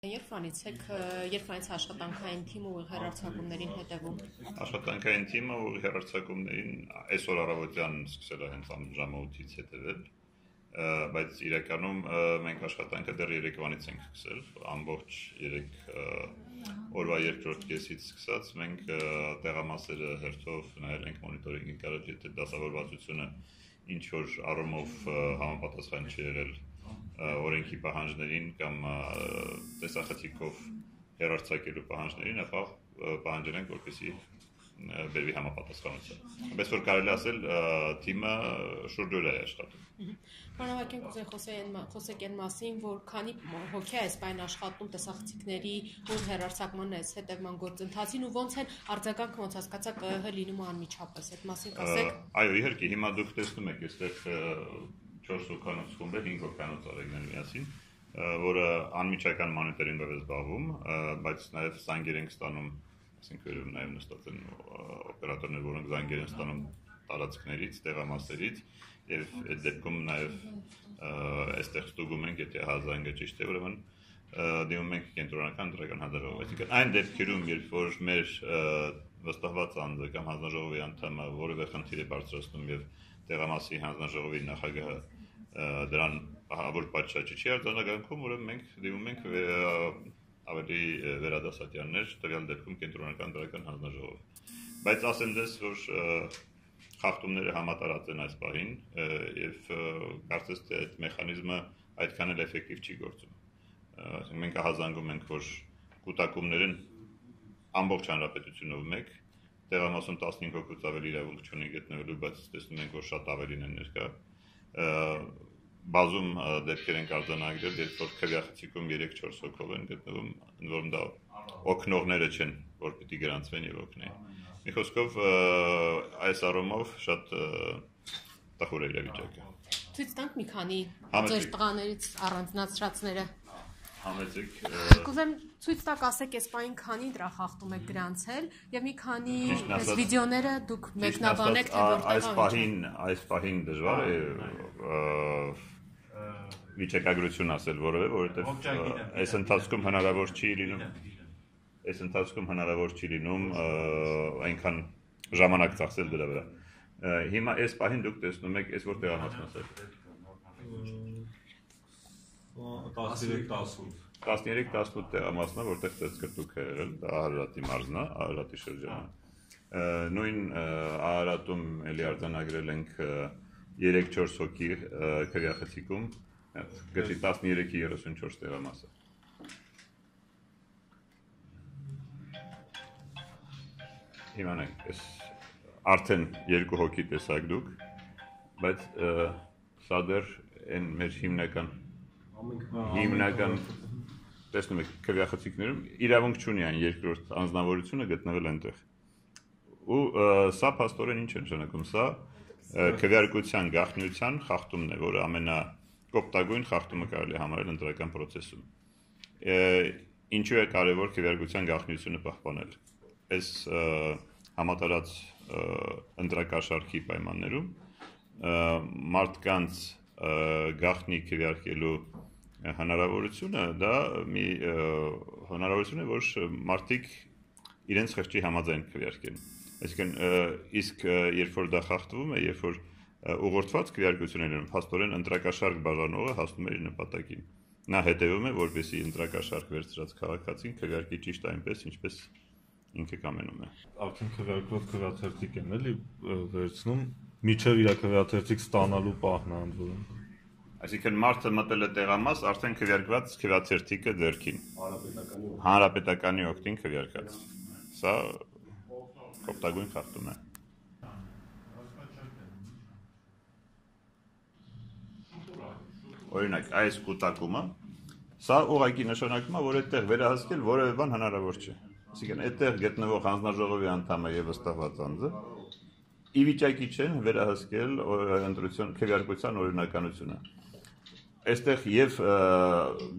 Երբ աշխատանքային թիմը ուղիղ հեռարձակումներին հետևում։ Աշխատանքային թիմը ուղիղ հեռարձակումներին այսօր առավոտյան սկսել է հենց ժամը 8-ից հետևել, բայց իրականում մենք աշխատանքը դեռ Երևանից ենք սկսել, ամբողջ 3 օրվա երկրորդ կեսից սկսած մենք տեղամասերը հերթով նայել ենք մոնիտորինգի կարել, եթե դասավորվածությունը ինչ որ առումով համապատասխան չի եղել օրենքի պահանջներին կամ տեսախցիկով հեռարձակելու պահանջներին, ապա պահանջել ենք, որպեսզի բերվի համապատասխանություն։ Բայց որ կարելի ասել թիմը շուրջօր է աշխատում։ Պարոն խոսեք այն մասին, որ քանի հոգի է այսպայն աշխատում տեսախցիկների ու հեռարձակման հետևման գործընթացին ու ոնց են արձագանքը ոնց հասկացաք ԿԸՀ լինում անմիջապես, այդ մասին կասեք։ Այո, իհարկե, հիմա դուք տեսնում եք, այստեղ 4 հոգանոց խումբ է, 5 հոգանոց արեգներ միասին, որը անմիջական մոնիտորինգով է զբաղվում, բայց նաև զանգեր ենք ստանում, այսինքն նաև նստած են օպերատորներ, որոնք զանգեր են ստանում տարածքներից, տեղամասերից, եւ այդ դեպքում նաև այստեղ ստուգում ենք, եթե զանգը ճիշտ է, ուրեմն դիմում ենք կենտրոնական ընտրական հանձնաժողով, այսինքն այն դեպքերում, երբ որ մեր վստահված անձը կամ հանձնաժողովի անդամը որևէ խնդիր է բարձրացնում եւ տեղամասի հանձնաժողովի նախագահը դրան ահավոր պատշաճ չի արձանագրում, ուրեմն մենք դիմում ենք ավելի վերադասատյաններ, տվյալ դեպքում կենտրոնական ընտրական հանձնաժողով։ Բայց ասեմ դες, որ խախտումները համատարած են այս պահին եւ կարծես թե այդ մեխանիզմը այդքան էլ էֆեկտիվ չի գործում։ Մենք ահազանգում ենք, որ կուտակումներն ամբողջ հանրապետությունով մեկ տեղամասում 15 հոգուց ավելի իրավունք չունեն գտնվելու, բայց տեսնում ենք, որ շատ ավելին են ներկա։ Բազում դեպքեր են արձանագրել, երբ որ քվեախցիկում 3-4 հոգով են գտնվում, ընդ որում դա օգնողները չեն, որ պիտի գրանցվեն եւ օգնեն։ Մի խոսքով այս առումով շատ տխուր է իրավիճակը։ Ցույց տանք մի քանի ձեր տղաներից առանձնացրածները։ Համեցեք։ Կուզեմ ցույց տակ ասեք, այս պահին քանի դրա խախտում եք գրանցել եւ մի քանի այս վիդեոները դուք մեկնաբանեք, թե որտեղ այս պահին դժվար է վիճակագրություն ասել որովհետեւ, որովհետեւ այս ընթացքում հնարավոր չի լինում այնքան ժամանակ ծախսել դրա վրա։ Հիմա այս պահին դուք տեսնում եք, այս որտեղ ամասնասել։ 13-18 տեղամասնա, որտեղ ծծկրտուք է եղել, դա Արարատի մարզն է, Արարատի շրջանը։ Նույն Արարատում էլի արձանագրել ենք 3-4 հոգի քվեախցիկում, գծի 13-ի 34 տեղամասը։ Իմանանք, այս արդեն 2 հոգի տեսակ դուք, բայց սա դեռ են մեր հիմնական տեսնում եք քվեախցիկներում իրավունք չունի այն երկրորդ անձնավորությունը գտնվել այնտեղ։ Ու սա փաստորեն ինչ է նշանակում, սա քվեարկության գաղտնիության խախտումն է, որը ամենակոպտագույն խախտումը կարելի է համարել ընտրական process-ում։ Ինչու է կարևոր քվեարկության գաղտնիությունը պահպանել։ Այս համատարած ընտրակաշարքի պայմաններում մարդկանց գաղտնի քվեարկելու հնարավորությունը դա մի հնարավորություն է, որ մարդիկ իրենց խղճի համաձայն քվեարկեն։ Այսինքն իսկ երբ որ դա խախտվում է, երբ որ ուղղորդված քվեարկություններն փաստորեն ընտրակաշարք բաժանողը հասնում է իր նպատակին։ Նա հետևում է, որպեսզի ընտրակաշարք վերցրած քաղաքացին քվեարկի ճիշտ այնպես, ինչպես ինքը կամենում է։ Արդեն քվեարկված քվեաթերթիկ են էլի վերցնում, միջև իր քվեաթերթիկ ստանալու պահն է անդորում։ Այսինքն մարդը մտել է տեղամաս, արդեն քվեարկված քվեաթերթիկը ձեռքին։ Հանրապետականի օգտին քվեարկած։ Սա կոպտագույն խախտում է։ Օրինակ, այս կուտակումը, սա ուղղակի նշանակում է, որ այդտեղ վերահսկել որևէ բան հնարավոր չէ։ Այսինքն այդտեղ գտնվող հանձնաժողովի անդամը եւ վստահված անձը ի վիճակի չեն վերահսկել ընտրության քվեարկության օրինականությունը։ Այստեղ եւ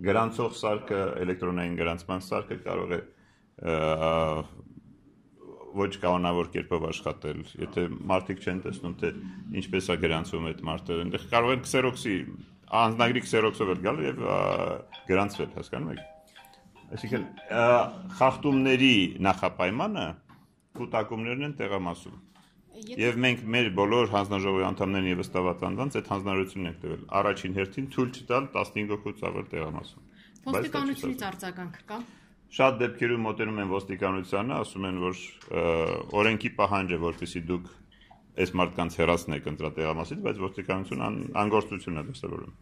գրանցող սարքը, էլեկտրոնային գրանցման սարքը կարող է ոչ կանոնավոր կերպով աշխատել, եթե մարդիկ չեն տեսնում, թե ինչպես է գրանցվում այդ մարդը, այնտեղ կարող են քսերոքսի, անձնագրի քսերոքսով էլ գալ եւ գրանցվել, հասկանում եք։ Այսինքն խախտումների նախապայմանը կուտակումներն են տեղամասում։ Եվ մենք մեր բոլոր հանձնաժողովի անդամներին եւս տված անձանց այդ հանձնարարությունն ենք տվել։ Առաջին հերթին թույլ չտալ 15 հոգուց ավել տեղամասում։ Ոստիկանությունից արձագանք կա։ Շատ դեպքերում մոտենում են ոստիկանությանը, ասում են, որ օրենքի պահանջ է, որպեսզի դուք այս մարդկանց հեռացնեք ընտրատեղամասից, բայց ոստիկանությունը անգործություն է դրսևորում։